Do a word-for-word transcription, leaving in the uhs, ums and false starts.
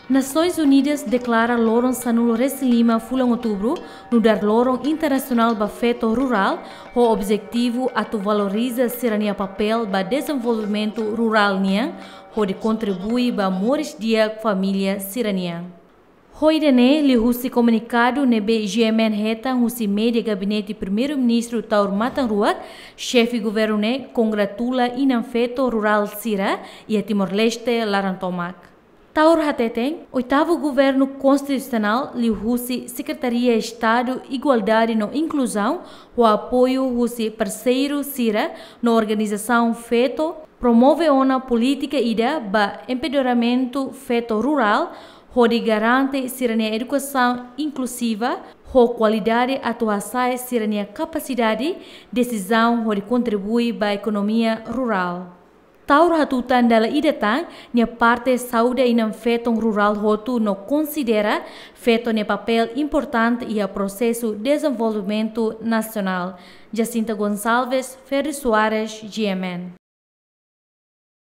Nasoins Unidas deklara loron sanulu-resin-lima fulan Outubru nu'udar Loron Internasionál ba Feto Rurál, ho objetivu atu valoriza sira-nia papél ba dezenvolvimentu rurál nian, hodi kontribui ba moris di'ak família sira-nian. Ho ida-ne'e, liuhusi komunikadu ne'ebé G M N hetan husi média Gabinete Primeiru-Ministru Taur Matan Ruak, Xefe Governu ne'e kongratula inan feto rurál sira iha Timor-Leste laran tomak. Taur hateten, Oitavu Governu Konstitusionál liuhusi Sekretaria Estadu Igualdade no Inkluzaun, ho apoiu husi parseiru sira no organizasaun feto, promove ona polítika ida ba empoderamentu feto rurál, hodi garante sira-nia edukasaun inkluziva ho kualidade atu hasa'e sira-nia kapasidade desizaun hodi kontribui ba ekonomia rurál. Taur hatutan dala ida tan nia parte saúde inan feton rurál hotu no konsidera feto nia papél importante iha prosesu dezenvolvimentu nasionál. Jacinta Gonçalves, Ferdi Soares, G M N.